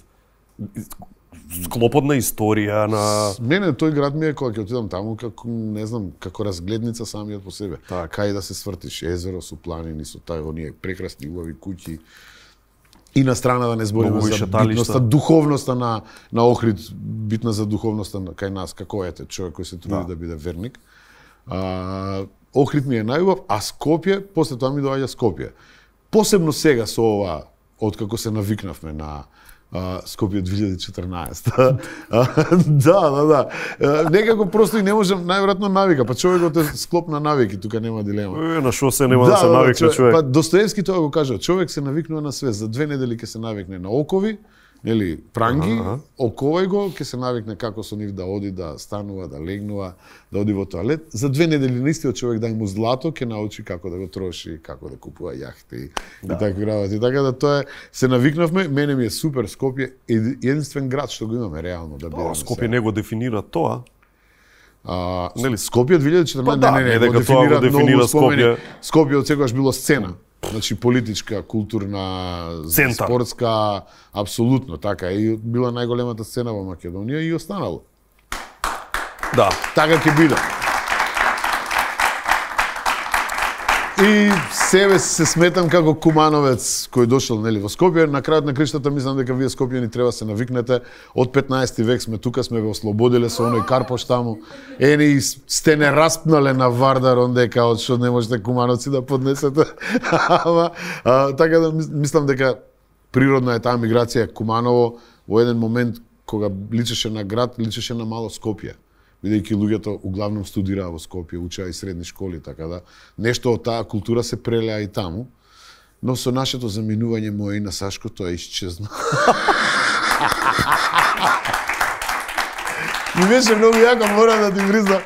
Склопот на историја на... Мене тој град ми е кога ќе отидам таму како, не знам, како разгледница самиот по себе. Кај да се свртиш, езеро со планини, со оние прекрасни убави куќи. И на страна да не збориме за битноста, духовноста на Охрид, битна за духовноста кај нас, како ете, човек кој се труди да биде верник. Охрид ми е најубав, а Скопје, после тоа ми доаѓа Скопје. Посебно сега со ова, откако се навикнавме на Скопје 2014. Да. Некако просто и не можам, најверојатно навика, па човекот е склоп на навики, тука нема дилема. На шо се нема да се навикне човек? Па Достоевски тоа го кажа, човек се навикнува на све, за 2 недели ќе се навикне на окови, нели, пранги, оковај го, ќе се навикне како со нив да оди, да станува, да легнува, да оди во тоалет. За 2 недели на истиот човек дај му злато, ќе научи како да го троши, како да купува јахти и такви работи. Така да тоа се навикнавме, мене ми е супер Скопје, единствен град што го имаме реално да бидеме. Скопје не го дефинира тоа. Нели Скопје 2014 не го дефинира Скопје. Скопје од секогаш било сцена. Значи политичка, културна, спортска, апсолутно така и била најголемата сцена во Македонија и останало. Да. Така ќе биде. И себе се сметам како кумановец кој дошол нели во Скопје. На крајот на криштата мислам дека вие скопјани треба се навикнете. Од 15 век сме тука, сме ве ослободиле со оној Карпош таму. Ени сте не распнале на Вардар ондека од што не можете кумановци да поднесете. Така да мислам дека природна е таа миграција. Куманово во еден момент кога личеше на град, личеше на мало Скопје. Бидејќи луѓето углавном студираа во Скопје, учеа и средни школи, така да нешто од таа култура се прелеа и таму. но со нашето заминување мој и на Сашко тоа исчезна. Ми беше многу јако, мора да ти признам.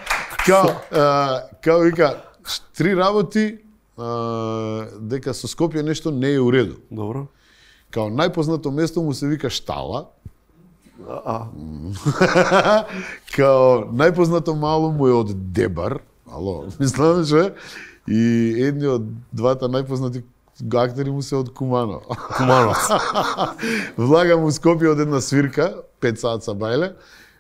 Као вика, 3 работи, дека со Скопје нешто не е уреду. Добро. Као најпознато место му се вика Штала. Као најпознато мало му е од Дебар. Ало, мислам, че и едни од двата најпознати актери му се од Куманово. Влага му Скопје од една свирка, 5 саат са бајле.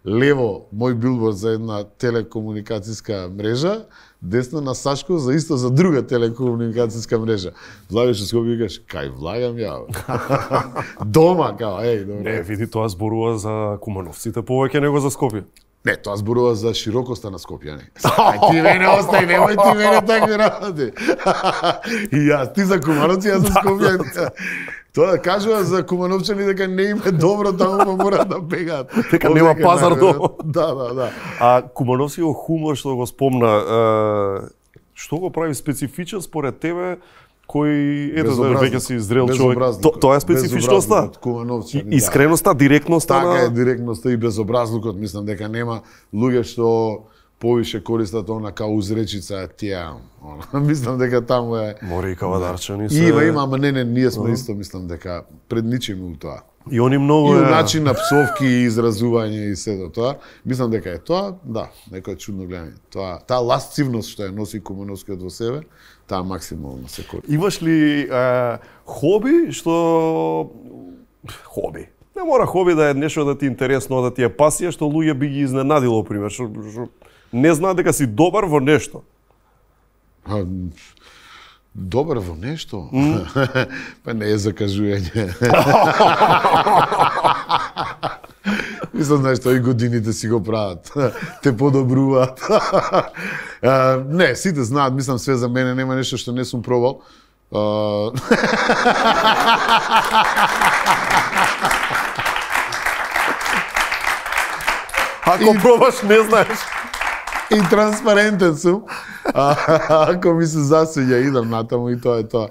Лево мој билборд за една телекомуникацијска мрежа, десно на Сашко за друга телекомуникацијска мрежа. Влагаш во Скопје и викаш, кај влагам ја? Дома, као, добре. Не, види, тоа зборува за кумановците повеќе него за Скопје. Не, тоа зборува за широкоста на Скопје, не. Ти мене остај, немој ти мене такви работи. И јас, ти за кумановци, јас за Скопје. Тоа кажува за кумановчани дека не им е добро, таму мора да бегаат. Дека нема пазар дома. Да. А кумановскиот хумор што го спомна, што го прави специфичен според тебе, кој веќе си зрел човек? Тоа е специфичноста. Искреноста, директноста. Така е, директноста и безобразлукот. Мислам дека нема луѓе што повише користат она као узречица тија. Мислам дека таму е. Мори и кавадарчани се. Има, ама не, ние сме исто, мислам дека предничиме у тоа. И они многу и начин на псовки и изразување и сето тоа. Мислам дека е тоа, да, некој чудно гледање. Тоа, таа ласцивност што ја носи кумановскиот во себе, таа максимално се користи. Имаш ли хоби што хоби? Не мора хоби да е нешто да ти е интересно, да ти е пасија, што луѓе би ги изненадило, пример, што не знаат дека си добар во нешто. Добар во нешто? Па не е закажување. Мислам, знаеш, тоа и годините си го прават. Те подобруваат. Не, сите знаат, мислам, све за мене, нема нешто што не сум пробал. Ако пробаш, не знаеш. И транспарентен сум. Ако ми се засвиѓа, идам натаму и тоа е тоа.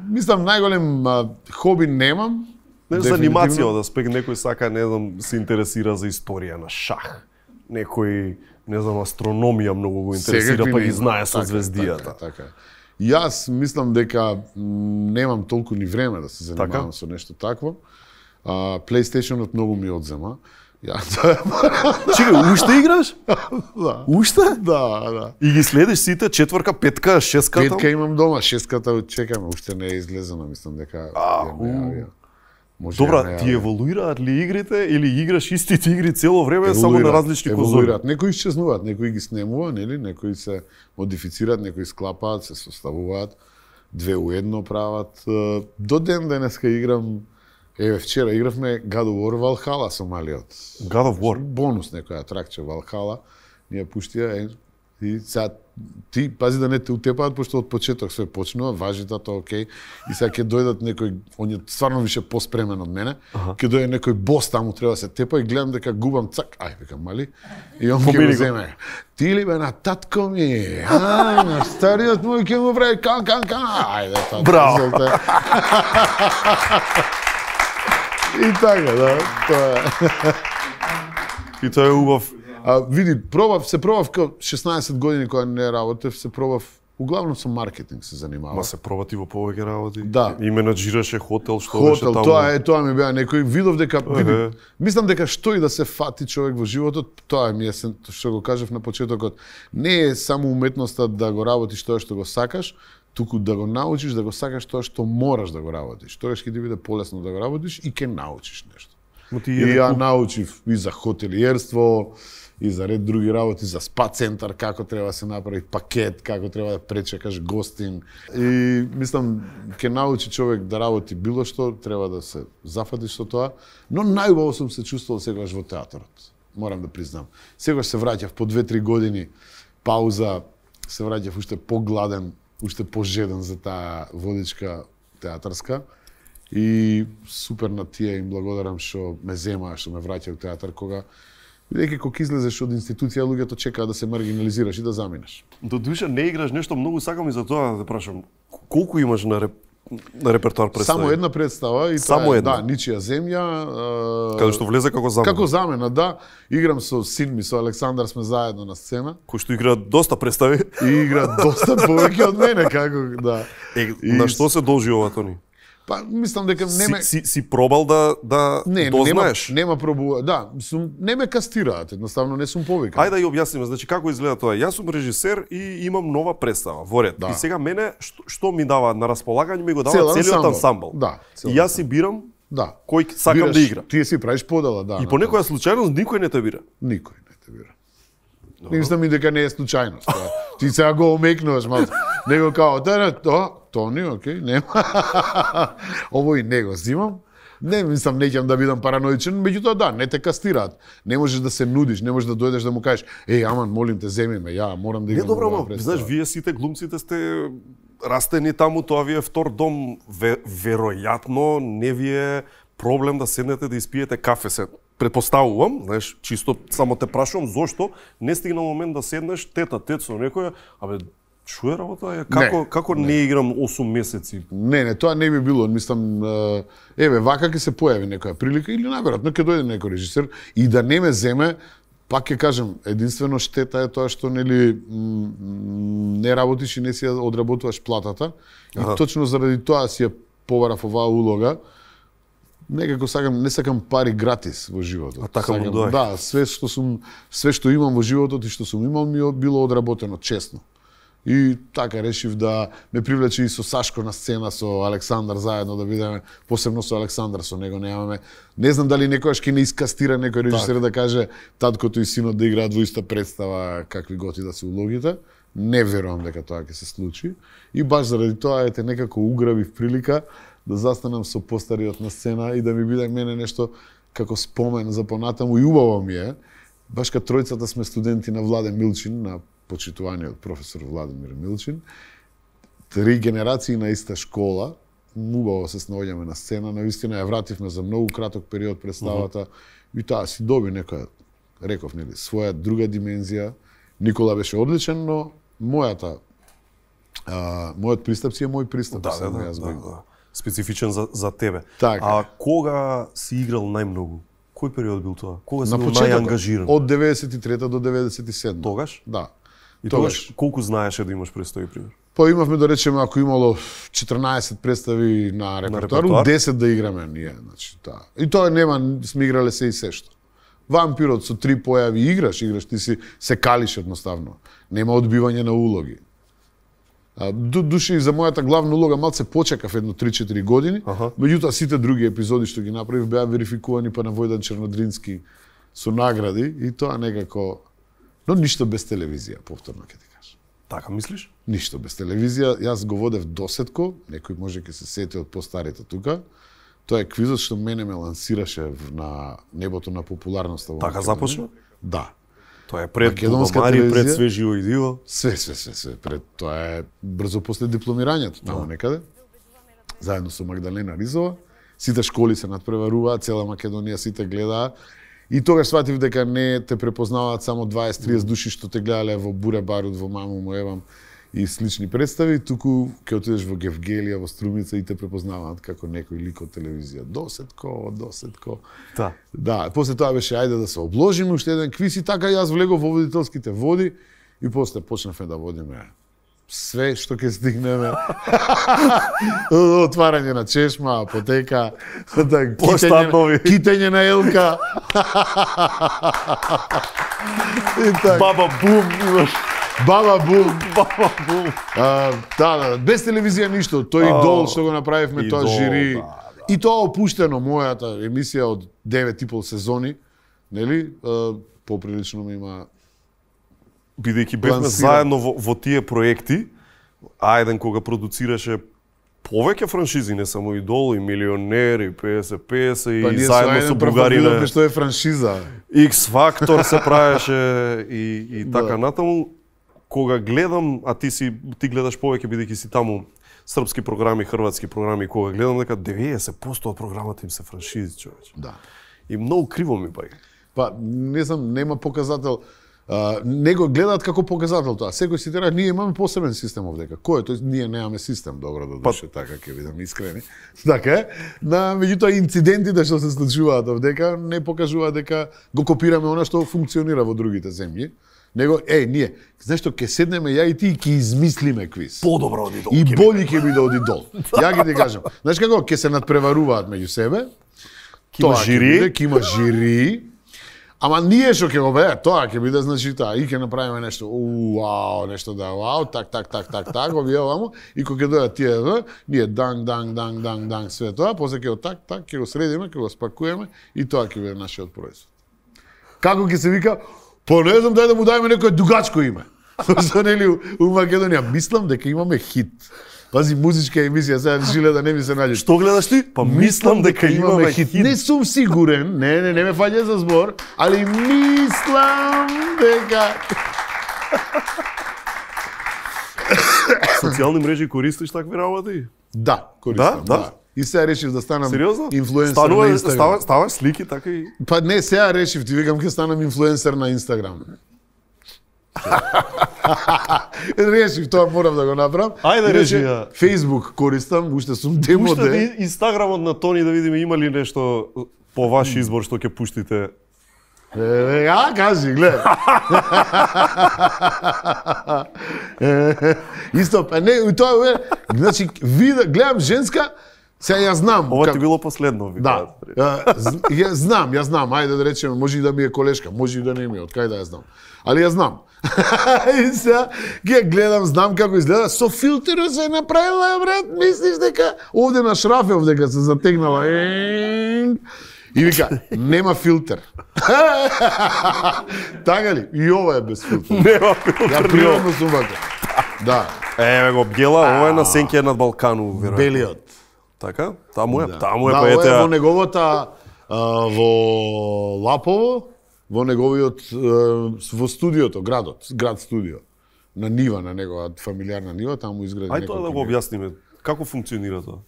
Мислам, најголем хоби немам. За анимација од аспект, некој сака, не знам, се интересира за историја на шах. Некој, не знам, астрономија многу го интересира, па ги знае со звездијата. Така. Јас мислам дека немам толку ни време да се занимавам со нешто такво. PlayStation-от многу ми одзема. Чекај, уште играш? Да. Уште? Да. И ги следиш сите, 4-ка, 5-ка, 6-ка? 5-ка имам дома, 6-ката чекаме, уште не е излезена, мислам дека Добра, ти еволуираат ли игрите или играш истите игри цело време само на различни конзоли? Некои исчезнуваат, некои ги снемува, нели, некои се модифицираат, некои склапаат, се составуваат, 2 у 1 прават. До ден денеска играм. Вчера игравме God of War Valhalla со малиот. God of War? Бонус некоја атракција Valhalla. Ние пуштија и сега ти пази да не те утепаат, пошто од почеток се почнува, важитата окей. И сега ќе дојдат некој, он е стварно више поспремен од мене. Ќе дојде некој бос таму, треба да се тепа и гледам дека губам цак. Викам, мали? И он ќе го земе. Ти ли бе на татко ми? На стариот мој ќе му прави кан. Ајде, тоа. Браво! И така, да, тоа И тоа е убав. Види, се пробав као 16 години кога не работев, се пробав, углавном со маркетинг се занимавав. Ма се пробати во повеќе работи? Да. И менаџираше хотел, што беше таму? Тоа ми беа некој, видов дека, мислам дека што и да се фати човек во животот, тоа ми е, што го кажав на почетокот, не е само уметноста да го работиш тоа што го сакаш, туку да го научиш да го сакаш тоа што мораш да го работиш. Тогаш ќе ти биде полесно да го работиш и ќе научиш нешто. И ја научив и за хотелиерство, и за ред други работи, за спа центар, како треба да се направи пакет, како треба да пречекаш гостин. И мислам, ќе научи човек да работи било што, треба да се зафатиш со тоа, но најубаво сум се чувствувал сегаш во театарот. Морам да признам. Сегаш се враќав по 2-3 години пауза, се враќав уште погладен, уште пожеден за таа водичка театарска. И супер на тие им благодарам што ме земаа, што ме враќа во театар, кога бидејќи кога излезеш од институција, луѓето чекаат да се маргинализираш и да заминеш. До душа не играш нешто, многу сакам и за тоа да прашам. Колку имаш на на репертоар представи? Само една представа и само тоа е, една. да, Ничија земја. Каде што влезе како замена. Како замена, да. Играм со син ми, со Александар сме заедно на сцена. Кој што игра доста представи. И игра доста повеќе од мене, како, да. На што се должи ова, Тони? Па, мислам дека не Си пробал да дознаеш? Нема пробува, да, не ме кастираат, едноставно не сум повикан. Ајде да ја објасниме, значи како изгледа тоа. Јас сум режисер и имам нова представа во ред. Да. И сега мене што ми дава на располагање, ми го дава целиот ансамбл. Да. И јас си бирам кој сакам Бираш, да игра. Тие си правиш подела, да. И по некоја случајност никој не те бира. Никој не те бира. Мислам и дека не е случајност. Ти сега го омекнуваш малку. Него као, Тони, окей, нема. Овој не го зимам. Не мислам, не ќе да бидам параноичен, меѓутоа да, не те кастираат. Не можеш да се нудиш, не можеш да дојдеш да му кажеш, аман, молим те, земи ме, ја морам да играм. Не, добро, знаеш, вие сите глумците сте растени таму, тоа ви е втор дом. Веројатно не ви е проблем да седнете да испиете кафе се. Предпоставувам, знаеш, чисто само те прашувам зошто не стигна момент да седнеш тет со некоја, што е работа? Како не играм 8 месеци? Не, тоа не би било. Мислам, вака ќе се појави некоја прилика или најверојатно ќе дојде некој режисер и да не ме земе, пак ќе кажам, единствено штета е тоа што не работиш и не си ја одработуваш платата. И точно заради тоа си ја побарав оваа улога. Некако не сакам пари гратис во животот. А така му доаѓа. Да, све што имам во животот и што сум имал ми било одработено честно. И така решив да ме привлече и со Сашко на сцена, со Александар заедно да бидеме, посебно со Александар, со него немаме. Не знам дали некојаш ќе не искастира некој режисер да каже таткото и синот да играат во иста представа, какви готи да се улогите. Не верувам дека тоа ќе се случи. И баш заради тоа некако уграбив прилика да застанам со постариот на сцена и да ми биде мене нешто како спомен за понатаму и убаво ми е. Баш кај тројцата сме студенти на Владен Милчин, на почитуваниот професор Владимир Милчин. 3 генерации на иста школа, убаво се снаоѓаме на сцена, навистина ја вративме за многу краток период представата и таа си доби некоја, реков, нели, своја друга димензија. Никола беше одличен, но мојот пристап си е мој пристап. Да. Специфичен за тебе. Така. А кога си играл најмногу? Кој период бил тоа? Кога си бил најангажиран? Од 93 до 97. Тогаш? Да. И тогаш колку знаеше да имаш представи, пример? Па имавме, да речеме, ако имало 14 представи на репертоар, 10 да играме ние, значи, таа. И тоа нема, сме играле се и сешто. Вампирот со 3 појави играш, ти си се калиш едноставно. Нема одбивање на улоги. Души за мојата главна улога малце почекав едно 3-4 години, меѓутоа сите други епизоди што ги направив беа верификувани па на Војдан Чернодрински со награди и тоа некако. Но ништо без телевизија, повторно ќе ти кажам. Така мислиш? Ништо без телевизија. Јас го водев досетко, некој може ќе се сети од постарите тука. Тоа е квизот што мене ме лансираше на небото на популярноста. Така започна? Да. Тоа е пред Бубамари, пред Све живо и диво. Све. Пред тоа е брзо после дипломирањето, таму некаде. Заедно со Магдалена Ризова. Сите школи се надпреваруваат, цела Македонија сите гледаат. И тогаш сватив дека не те препознаваат само 20-30 души што те гледале во Буре Барут, во Маму му Евам и слични представи, туку ќе отидеш во Гевгелија, во Струмица и те препознаваат како некој лик од телевизија. Досетко. Да, после тоа беше ајде да се обложиме уште еден квиз и така јас влегов во водителските води и после почнавме да водиме све што ќе стигнеме. Отварање на чешма, апотека, китење на елка. Баба Бум имаш. Баба Бум. Да, без телевизија ништо. Тој идол што го направивме, тоа жири. И тоа опуштено, мојата емисија од 9,5 сезони, нели? Поприлично ми има. Бидејќи бевме заедно во тие проекти, Ајден кога продуцираше повеќе франшизи, не само Идол, и Милионер, и 50-50, и заедно со Бугарина. Што е франшиза? X Factor се правеше и така натаму. Кога гледам, а ти гледаш повеќе бидејќи си таму, српски програми, хрватски програми, кога гледам дека 90% од програмата им се франшизи, човече. Да. И многу криво ми бај. Па, не знам, нема показател. Не го гледаат како показател тоа. Секој си тера, ние имаме посебен систем овдека. Кој е тој? Ние немаме систем, добро да душе, така ќе бидеме искрени. Така е. Меѓутоа инцидентите што се случуваат овдека не покажуваат дека го копираме она што функционира во другите земји. Него, ние, знаеш што, ќе седнеме ја и ти и ќе измислиме квиз. Подобро оди дол. И боли ќе биде оди дол. Ја ќе ти кажам. Знаеш како, ќе се надпреваруваат меѓу себе. Ќе има жири. Ама ние што ќе го бе, тоа ќе биде, значи, и ќе направиме нешто, нешто так, овие овамо, и кога ќе дојдат тие, ние данг, све тоа, после ќе го так, ќе го средиме, ќе го спакуеме, и тоа ќе биде нашиот производ. Како ќе се вика? Не знам, дај да му дајме некој дугачко име. Што нели у Македонија, мислам дека имаме хит. Пази, музичка емисија, сега жиле да не ми се наѓе. Што гледаш ти? Мислам дека имаме хит. Не сум сигурен, не ме фаќа за збор, али мислам дека... Социјални мрежи користиш такви работи? Да, користам, да. И сега решив да станам инфлуенсер на Инстаграм. Ставаш слики, така и... Па не, сега решив, ти викам ќе станам инфлуенсер на Инстаграм. Решив, тоа морам да го направам. Ајде, реши ја. Facebook користам, уште сум демоде. Пуштате Инстаграмот на Тони да видиме има ли нешто по ваш избор што ќе пуштите. Кажи, гледа. Исто, па не, тоа значи, гледам женска, сега ја знам. Ова ти било последно, да. Ја знам, ајде да речеме, може и да ми е колешка, може и да не ми е, од кај да ја знам. Али ја знам. И сега ги гледам, знам како изгледа, со филтерот се направила, брат, мислиш дека овде на Шрафев дека се затегнала. И вика, нема филтер. Така ли? И ова е без филтер. Нема филтер. Ја пријатно сум вака. Да. Еве го Бјела, ова е на Сенке над Балкану, веројатно. Белиот. Така? Таму е, таму е па ете. Да, во неговата во Лапово, во неговиот во студиото, град студио. На нива, на негова фамилиарна нива, таму изгради некој. Ај тоа да го објасниме. Како функционира тоа?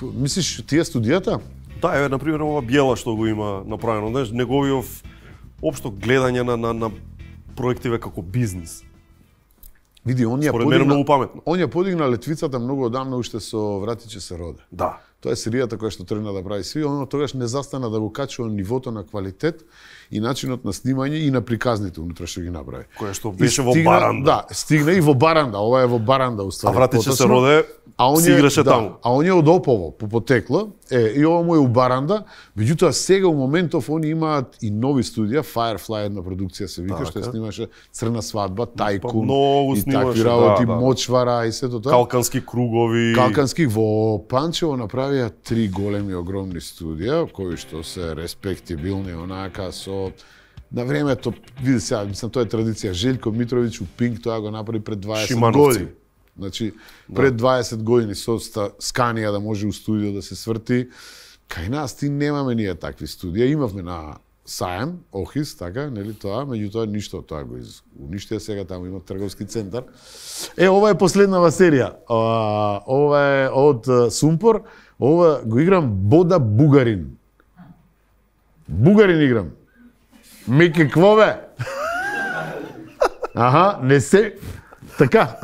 Мислиш тие студијата? Да, еве на пример ова Бјела што го има направено, знаеш, неговиот општо гледање на проективе како бизнис. Види, он ја подигна летвицата многу одамна уште со Вратиче се роде. Да. Тоа е серијата која што тргна да прави сви, оно тогаш не застана да го качува нивото на квалитет и начинот на снимање и на приказните унутра што ги направи. Која што беше во Баранда. Да, стигна и во Баранда, ова е во Баранда уствари. А Вратиче се роде, си играше таму. А он е од Опово, по потекло, и ова му е у Баранда, меѓутоа сега у моментов они имаат и нови студија, Firefly една продукција се вика, што ја снимаше Црна свадба, Тајкун, и такви работи, Мочвара и сето тоа. Калкански кругови. Калкански во Панчево направија 3 големи огромни студија, кои што се респектибилни онака со на времето, види сега, мислам тоа е традиција, Желјко Митровиќ у Пинк тоа го направи пред 20 години. Значи, пред 20 години со Сканија да може у студио да се сврти. Кај нас ти немаме ние такви студија. Имавме на Саем, Охис, така, нели тоа, меѓутоа ништо тоа го уништија, сега таму има трговски центар. Ова е последнава серија. Ова е од Сумпор. Ова го играм Бода Бугарин. Бугарин играм. Меке квове. Аха, не се... Така.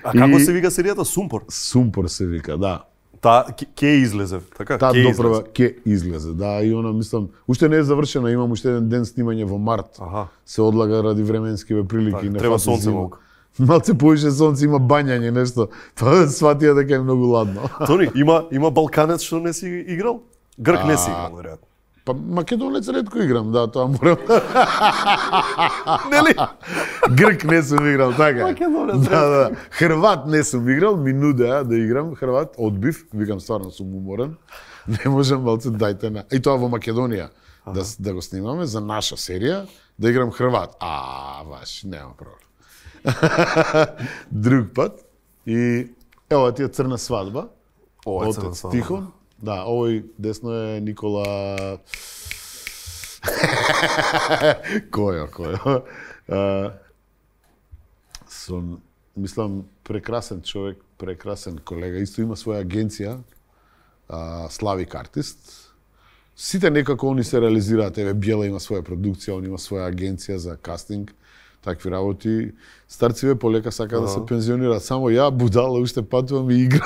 А како се вика серијата? Сумпор? Сумпор се вика, да. Та ке излезе, така? Та допрва ке излезе, да, и она мислам, уште не е завршена, имам уште еден ден снимање во март. Аха. Се одлага ради временскиве прилики. Так, треба сонце малку. Малце повише сонце, има бањање, нешто. Па сватија дека е многу ладно. Тони, има балканец што не си играл? Грк не си играл, веројатно. Па македонец ретко играм, да, тоа морам. Нели? Грк не сум играл, така. Македонец. Да. Хрват не сум играл, ми нудеа да играм хрват, одбив, викам стварно сум уморен. Не можам, малце дајте на. И тоа во Македонија да го снимаме за наша серија, да играм хрват. Баш, нема проблем. Друг пат. И ево ти е Црна свадба. Ова е Црна свадба. Тихон. Да, овој десно е Никола... Којо. Мислам, прекрасен човек, прекрасен колега. Исто има своја агенција, Славик Артист. сите некако они се реализираат. Еве Бјела има своја продукција, он има своја агенција за кастинг, такви работи. Старциве полека сака да се пензионираат. Само ја, будала, уште патувам и играм.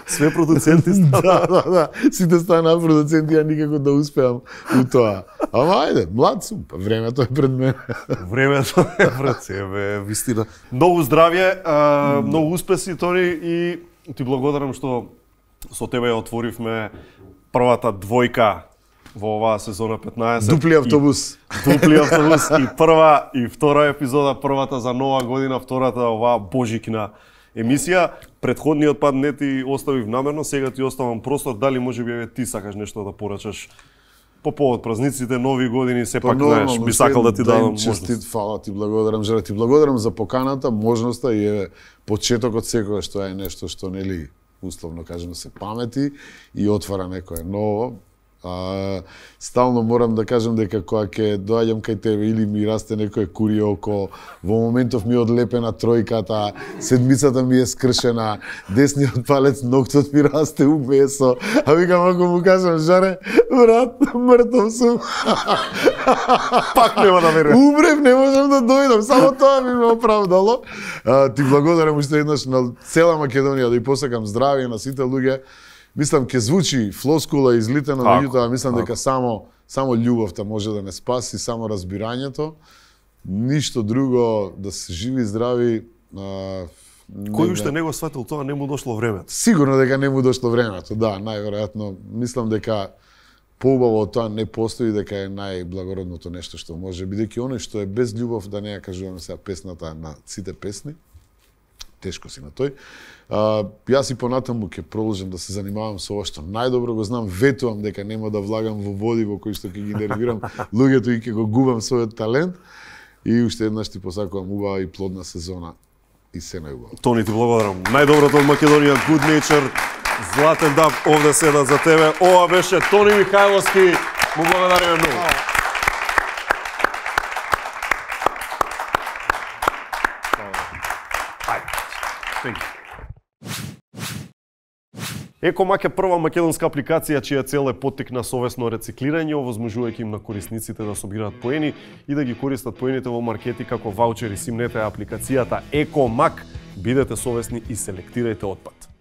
Све продуценти станаа. Да. Сите станаа продуценти, ја никако да успеам у тоа. Ама ајде, млад сум, времето е пред мене. Времето е пред себе, вистина. Многу здравје, многу успеси, Тони, и ти благодарам што со тебе ја отворивме првата двојка во оваа сезона 15. Дупли автобус. Дупли автобус и прва и втора епизода, првата за нова година, втората оваа божикна емисија. Претходниот пат не ти оставив намерно, сега ти оставам простор. Дали можеби ти сакаш нешто да порачаш по повод празниците, нови години, сепак знаеш, би сакал да ти дадам можност. Честит, фала ти благодарам, Жара, ти благодарам за поканата, можноста и е почетокот секогаш што е нешто што нели условно кажано се памети и отвара некое ново. Стално морам да кажам дека кога ќе доаѓам кај тебе или ми расте некој кури око, во моментов ми е одлепена тројката, седмицата ми е скршена, десниот палец, ноктот ми расте у месо, а викам ако му кажам, Жаре, брат, мртов сум. Пак нема да верувам. Умрев, не можам да дојдам, само тоа ми ме оправдало. Ти благодарам уште еднаш на цела Македонија, да и посакам здравје на сите луѓе. Мислам, ке звучи флоскула излитено, меѓутоа мислам дека само љубовта може да не спаси, само разбирањето. Ништо друго, да се живи и здрави. Кој уште не го сватил тоа, не му дошло времето. Сигурно дека не му дошло времето, да, најверојатно. Мислам дека поубаво од тоа не постои, дека е најблагородното нешто што може, бидејќи оној што е без љубов, да не ја кажуваме сега песната на сите песни, тешко си на тој. Јас и понатаму ќе продолжам да се занимавам со ова што најдобро го знам, ветувам дека нема да влагам во води во кои што ќе ги нервирам луѓето и ќе го губам својот талент. И уште еднаш ти посакувам убава и плодна сезона и се најубаво. Тони, ти благодарам. Најдоброто од Македонија, Good Nature, Златен даб, овде седат за тебе. Ова беше Тони Михајловски. Му благодариме многу. Екомак е прва македонска апликација чија цел е поттикна совесно рециклирање, овозможувајќи им на корисниците да собираат поени и да ги користат поените во маркети како ваучери. Симнете апликацијата Екомак, бидете совесни и селектирајте отпад.